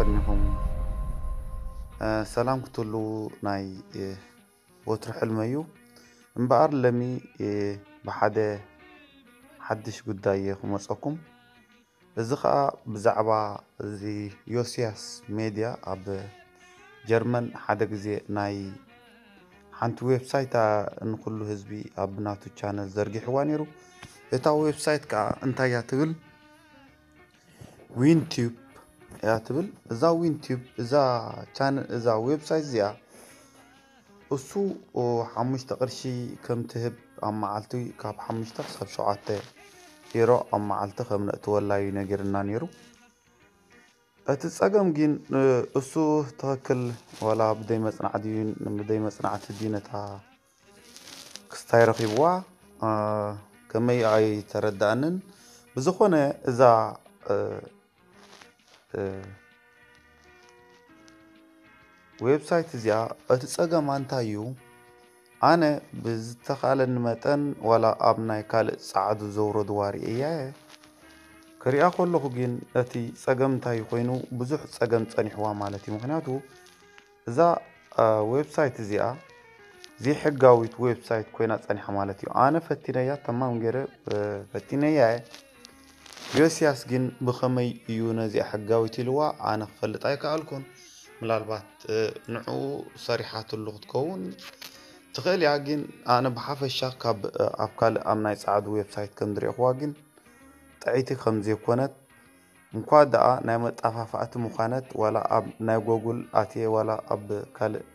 እኒኹም ሰላም ክትህሉ ናይ ወትሩ ሕልመ እዩ። እምበኣር ለሚ ብሓደ ሓድሽ ጉዳይ እየ ክመፀኩም። እዚ ኸዓ ብዛዕባ እዚ ዮስያስ ሜድያ ኣብ ጀርመን ሓደ ግዜ ናይ ሓንቲ ዌብሳይት ንኩሉ ህዝቢ ኣብ ናቱ ቻነል ዘርጊሕዋ ነይሩ። እታ ዌብሳይት ከዓ እንታይ እያ ትብል? ዊንቲዩብ እያ ትብል። እዛ ዊንቲዩብ እዛ ቻነል እዛ ዌብሳይት እዚኣ እሱ ሓሙሽተ ቅርሺ ከም ትህብ ኣብ መዓልቲ ካብ ሓሙሽተ ክሳብ ሸውዓተ ዩሮ ኣብ መዓልቲ ከም ነእትወላ እዩ ነጊርና ነይሩ። እቲ ጸገም ግን እሱ ትኽክል ዋላ ብደይ መጽናዕቲ ድዩ ብደይ መጽናዕቲ ድዩ ነታ ክስታይ ረኺብዋ ከመይ ኣይተረዳእንን። ብዝኾነ እዛ ዌብሳይት እዚኣ እቲ ጸገማ እንታይ እዩ? ኣነ ብዝተኻለኒ መጠን ዋላ ኣብ ናይ ካልእ ጸዓዱ ዘውረድዋ ርእየያ እየ። ክሪኣ ከለኹ ግን እቲ ጸገም እንታይ ኮይኑ ብዙሕ ጸገም ጸኒሕዋ ማለት እዩ። ምኽንያቱ እዛ ዌብሳይት እዚኣ ዘይሕጋዊት ዌብሳይት ኮይና ጸኒሓ ማለት እዩ። ኣነ ፈቲነያ ተማም ገይረ ፈቲነያ እየ። ዮስያስ ግን ብኸመይ እዩ ነዚኣ ሕጋዊት ኢልዋ ኣነ ክፈልጥ ኣይከኣልኩን። ምናልባት ንዕኡ ሰሪሓትሉ ክትከውን ትኽእል እያ። ግን ኣነ ብሓፈሻ ካብ ኣብ ካልእ ኣብ ናይ ጸዓዱ ዌብሳይት ከም ዝረእኽዋ ግን ጥዕይቲ ከም ዘይኮነት እንኳ ደኣ ናይ መጣፋፋእቲ ምዃነት ዋላ ኣብ ናይ ጎጉል ኣትየ ዋላ ኣብ ካልእ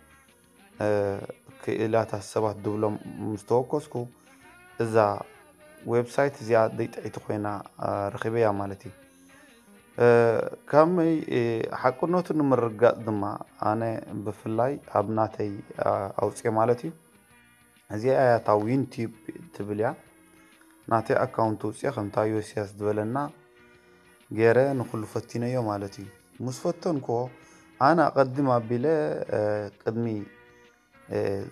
ክኢላታት ሰባት ድብሎም ምስ ተወከስኩ እዛ ዌብሳይት እዚኣ ደይ ጥዕይቲ ኮይና ረኺበያ ማለት እዩ። ከመይ ሓቅነቱ ንምርጋፅ ድማ ኣነ ብፍላይ ኣብ ናተይ ኣውፅኤ ማለት እዩ። እዚኣ እያ እታ ዊንቲዩብ ትብል እያ። ናተይ ኣካውንት ውፅኤ ከምታ ዮስያስ ዝበለና ገይረ ንኩሉ ፈቲነዮ ማለት እዩ። ምስ ፈተንክዎ ኣነ ኣቐድም ኣቢለ ቅድሚ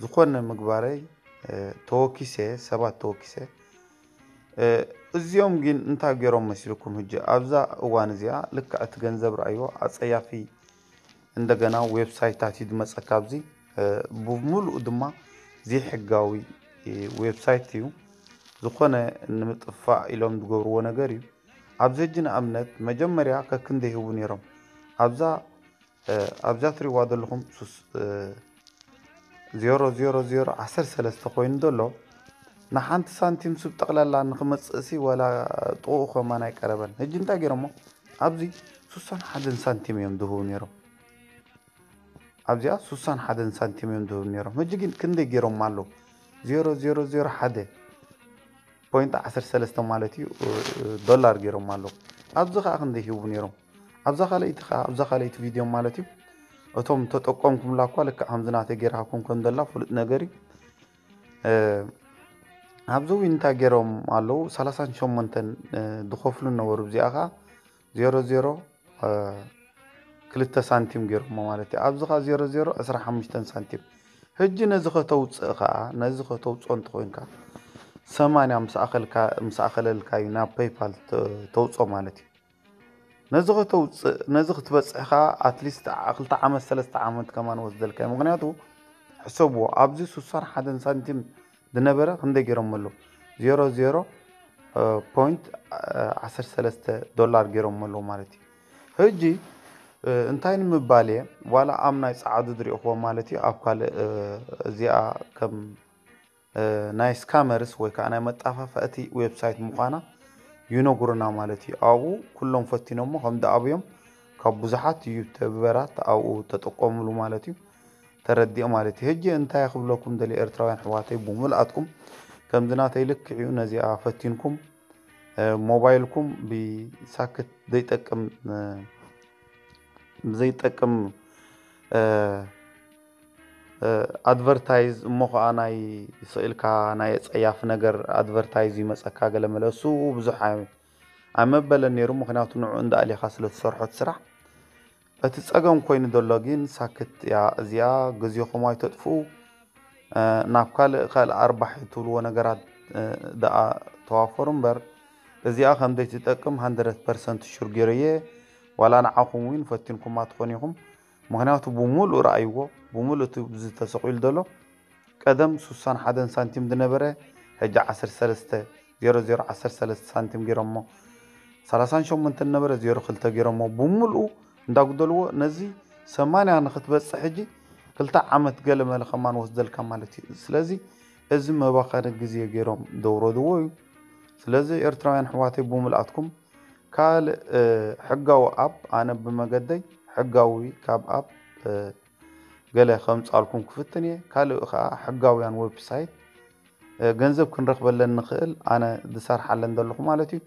ዝኾነ ምግባረይ ተወኪሰ ሰባት ተወኪሰ እዚኦም ግን እንታይ ገይሮም መሲልኩም? ሕጂ ኣብዛ እዋን እዚኣ ልክዕ እቲ ገንዘብ ረኣይዎ ኣፀያፊ እንደገና ዌብሳይታት እዩ ዝመፀካ ኣብዚ ብምሉኡ ድማ ዘይሕጋዊ ዌብሳይት እዩ። ዝኾነ ንምጥፋእ ኢሎም ዝገብርዎ ነገር እዩ። ኣብዚ ሕጂ ንኣብነት መጀመርያ ከክንደ ይህቡ ነይሮም ኣብዛ ኣብዛ ትሪእዋ ዘለኹም ዜሮ ዜሮ ዜሮ ዓሰርተ ሰለስተ ኮይኑ ዘሎ ንሓንቲ ሳንቲም ስብ ጠቕላላ ንክመፅእሲ ወላ ጥቕኡ ከማን ኣይቀረበን። ሕጂ እንታይ ገይሮሞ ኣብዚ ሱሳን ሓደን ሳንቲም እዮም ዝህቡ ነይሮም። ኣብዚኣ ሱሳን ሓደን ሳንቲም እዮም ዝህቡ ነይሮም። ሕጂ ግን ክንደይ ገይሮም ኣለዉ? ዜሮ ዜሮ ዜሮ ሓደ ፖይንት ዓሰርተ ሰለስተ ማለት እዩ ዶላር ገይሮም ኣለዉ። ኣብዚ ከዓ ክንደይ ሂቡ ነይሮም? ኣብዛ ካልኣይቲ ከዓ ኣብዛ ካልኣይቲ ቪድዮ ማለት እዩ እቶም ተጠቆምኩምላ እኳ ልክዕ ከምዚ ናተይ ገይርሃኩም ከም ዘላ ፍሉጥ ነገር እዩ። ኣብዚ እውን እንታይ ገይሮም ኣለዉ ሰላሳን ሸሞንተን ዝኸፍሉ ነበሩ። እዚኣ ከዓ ዜሮ ዜሮ ክልተ ሳንቲም ገይሮሞ ማለት እዩ። ኣብዚ ከዓ ዜሮ ዜሮ ዕስራ ሓሙሽተ ሳንቲም። ሕጂ ነዚ ከተውፅእ ከዓ ነዚ ከተውፅኦ እንተኮይንካ ሰማንያ ምስ ኣኸለልካ እዩ ናብ ፔይፓል ተውፅኦ ማለት እዩ። ነዚ ከተውፅእ ነዚ ክትበፅሕ ከዓ ኣትሊስት ክልተ ዓመት ሰለስተ ዓመት ከማን ወስደልካ እዩ። ምክንያቱ ሕሰብዎ ኣብዚ ሱሳን ሓደን ሳንቲም ዝነበረ ክንደይ ገይሮም ኣለዉ ዜሮ ዜሮ ፖይንት ዓሰርተ ሰለስተ ዶላር ገይሮም ኣለዉ ማለት እዩ። ሕጂ እንታይ ንምባል እየ ዋላ ኣብ ናይ ፀዓዱ ዝሪእኽዎ ማለት እዩ ኣብ ካልእ እዚኣ ከም ናይ ስካመርስ ወይ ከዓ ናይ መጣፋፋእቲ ዌብሳይት ምዃና ይነግሩና ማለት እዩ። ኣብኡ ኩሎም ፈቲኖሞ ከም ዝኣብዮም ካብ ብዙሓት ዩቱበራት ኣብኡ ተጠቆምሉ ማለት እዩ። ተረዲኦ ማለት እዩ። ሕጂ እንታይ ክብለኩም ደልየ ኤርትራውያን ኣሕዋተይ ብምልኣትኩም ከምዚ ናተይ ልክዕ እዩ ነዚኣ ፈቲንኩም ሞባይልኩም ብሳክት ዘይጠቅም ብዘይጠቅም ኣድቨርታይዝ እሞ ከዓ ናይ ስእልካ ናይ ፀያፍ ነገር ኣድቨርታይዝ ይመፀካ ገለ መለ እሱ ብዙሕ ኣይመበለን ነይሩ። ምክንያቱ ንዑ እንዳኣሊኻ ስለትሰርሖ እቲ ስራሕ እቲ ጸገም ኮይኑ ዘሎ ግን ሳክት እያ እዚኣ። ግዜኹም ኣይተጥፍኡ። ናብ ካልእ ካልእ ኣርባሒ ትብልዎ ነገራት ደኣ ተዋፈሩ እምበር እዚኣ ከም ዘይትጠቅም ሃንድረድ ፐርሰንት ሹር ገይረየ። ዋላ ንዓኹም እውን ፈቲንኩማ ትኾኑ ኢኹም። ምኽንያቱ ብምሉእ ረኣይዎ፣ ብምሉእ እቲ ተሰቒሉ ዘሎ ቀደም ሱሳን ሓደን ሳንቲም ዝነበረ ሕጂ ዓሰርተ ሰለስተ ዜሮ ዜሮ ዓሰርተ ሰለስተ ሳንቲም ገይሮሞ፣ ሰላሳን ሸሞንተን ነበረ ዜሮ ክልተ ገይሮሞ ብምሉኡ እንዳጉደልዎ ነዚ ሰማንያ ንክትበፅሕ ሕጂ ክልተ ዓመት ገለ መለ ከማን ወስደልካ ማለት እዩ። ስለዚ እዚ መባኸኒ ግዜ ገይሮም ደውረድዎ እዩ። ስለዚ ኤርትራውያን ኣሕዋተይ ብምልኣትኩም ካልእ ሕጋዊ ኣፕ ኣነ ብመገደይ ሕጋዊ ካብ ኣፕ ገለ ከምፃልኩም ክፍትን እየ። ካልእ ከዓ ሕጋውያን ዌብሳይት ገንዘብ ክንረክበለን ንክእል ኣነ ዝሰርሓለን ዘለኹ ማለት እዩ።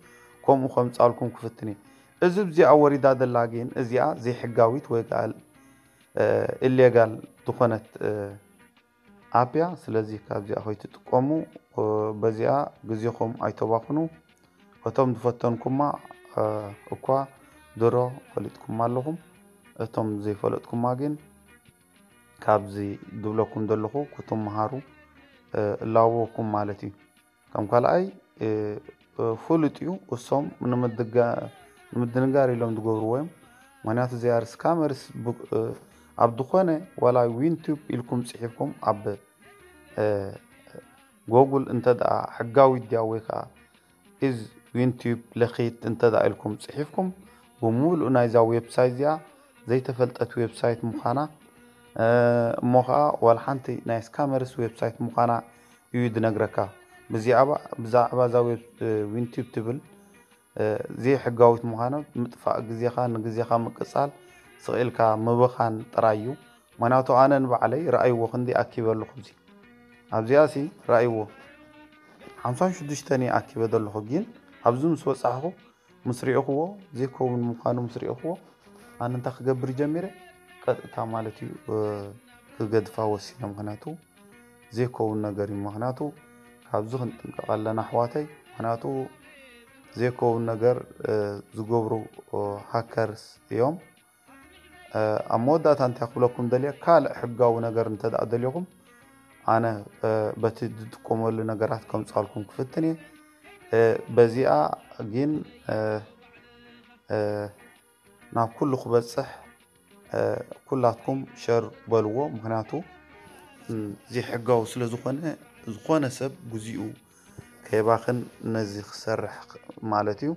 ከምኡ ከምፃልኩም ክፍትን እየ። እዚ ብዚኣ ወሪዳ ዘላ ግን እዚኣ ዘይሕጋዊት ወይ ከዓ ኢሌጋል ዝኾነት ኣፕ እያ። ስለዚ ካብዚኣ ከይትጥቀሙ በዚኣ ግዜኹም ኣይተባኽኑ። እቶም ዝፈተንኩማ እኳ ድሮ ፈሊጥኩማ ኣለኹም። እቶም ዘይፈለጥኩማ ግን ካብዚ ዝብለኩም ዘለኹ ክትመሃሩ እላበወኩም ማለት እዩ። ከም ካልኣይ ፍሉጥ እዩ። እሶም ንምድንጋር ኢሎም ዝገብርዎ እዮም። ምክንያቱ ዚኣር ስካመርስ ኣብ ዝኾነ ዋላ ዊንቱብ ኢልኩም ፅሒፍኩም ኣብ ጎጉል እንተ ደኣ ሕጋዊ ድያ ወይ ከዓ ኢዝ ዊንቱብ ለኺት እንተ ደኣ ኢልኩም ፅሒፍኩም ብምሉእ ናይዛ ዌብሳይት እዚኣ ዘይተፈልጠት ዌብሳይት ምዃና እሞ ከዓ ዋላ ሓንቲ ናይ ስካመርስ ዌብሳይት ምዃና እዩ ዝነግረካ። ብዛዕባ እዛ ዊንቱብ ትብል ዘይሕጋዊት ምዃና ምጥፋእ ግዜኻ ንግዜኻ ምቅፃል ስቕ ኢልካ ምብኻን ጥራይ እዩ። ምክንያቱ ኣነ ንባዕለይ ረኣይዎ ክንደይ ኣኪበ ኣለኹ። እዚ ኣብዚኣ ሲ ረኣይዎ ሓምሳን ሽዱሽተን እየ ኣኪበ ዘለኹ። ግን ኣብዚ ምስ በፃሕኹ ምስ ሪእኽዎ ዘይከውን ምዃኑ ምስ ሪእኽዎ ኣነ እንታይ ክገብር ጀሚረ ቀጥታ ማለት እዩ ክገድፋ ወሲነ። ምክንያቱ ዘይከውን ነገር እዩ። ምክንያቱ ካብዚ ክንጥንቀቕ ኣለና ኣሕዋተይ። ምክንያቱ ዘይከውን ነገር ዝገብሩ ሃከርስ እዮም። ኣብ መወዳእታ እንታይ ክብለኩም ደልየ ካልእ ሕጋዊ ነገር እንተ ደኣ ደልኹም ኣነ በቲ ዝጥቀመሉ ነገራት ከምፃልኩም ክፍትን እየ። በዚኣ ግን ናብ ኩሉ ክበፅሕ ኩላትኩም ሸር በልዎ። ምክንያቱ ዘይሕጋዊ ስለ ዝኾነ ዝኾነ ሰብ ግዚኡ ከይባኽን ነዚ ክሰርሕ ማለት እዩ።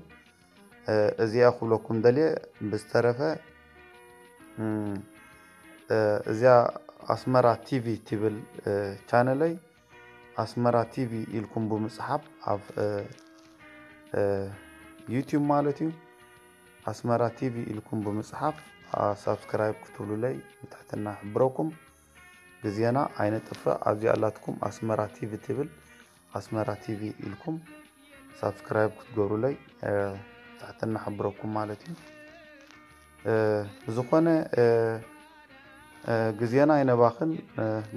እዚኣ ክብለኩም ደልየ። ብዝተረፈ እዚኣ ኣስመራ ቲቪ ትብል ቻነለይ ኣስመራ ቲቪ ኢልኩም ብምፅሓፍ ኣብ ዩቲዩብ ማለት እዩ ኣስመራ ቲቪ ኢልኩም ብምፅሓፍ ሳብስክራይብ ክትብሉለይ ብትሕትና ሕብረኩም። ግዜና ኣይነጥፍእ። ኣብዚኣ ኣላትኩም ኣስመራ ቲቪ ትብል ኣስመራ ቲቪ ኢልኩም ሳብስክራይብ ክትገብሩለይ ትሕትና ሕብረኩም ማለት እዩ። ብዝኾነ ግዜና ኣይነባኽን።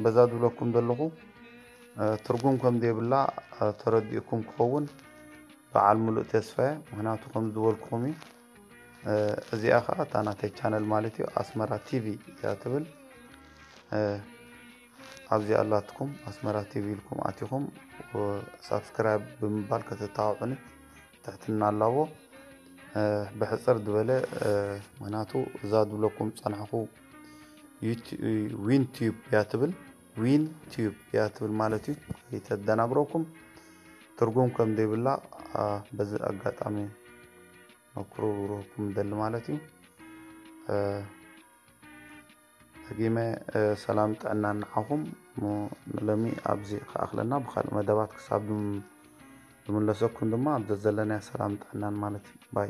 በዛ ዝብለኩም ዘለኹ ትርጉም ከም ዘይብላ ተረዲእኩም ክኸውን በዓል ሙሉእ ተስፋ እየ። ምክንያቱ ከም ዝበልኩኹም እዩ። እዚኣ ከዓ እታ ናተይ ቻነል ማለት እዩ ኣስመራ ቲቪ እያ ትብል። ኣብዚኣ ኣላትኩም ኣስመራ ቲቪ ኢልኩም ኣቲኹም ሳብስክራይብ ብምባል ከተተባብዑኒ ትሕትና ኣላቦ። ብሕፅር ዝበለ ምክንያቱ እዛ ዝብለኩም ዝፀናሕኹ ዊን ቲዩብ እያ ትብል። ዊን ቲዩብ እያ ትብል ማለት እዩ። ከይተደናግረኩም ትርጉም ከም ዘይብላ በዚ ኣጋጣሚ መክሩርኩም ደሊ ማለት እዩ። ደጊመ ሰላም ጥዕና ንዓኹም። ንሎሚ ኣብዚ ክኣኽለና ብካልእ መደባት ክሳብ ዝምለሰኩም ድማ ኣብ ዘዘለናዮ ሰላም ጥዕናን ማለት እዩ። ባይ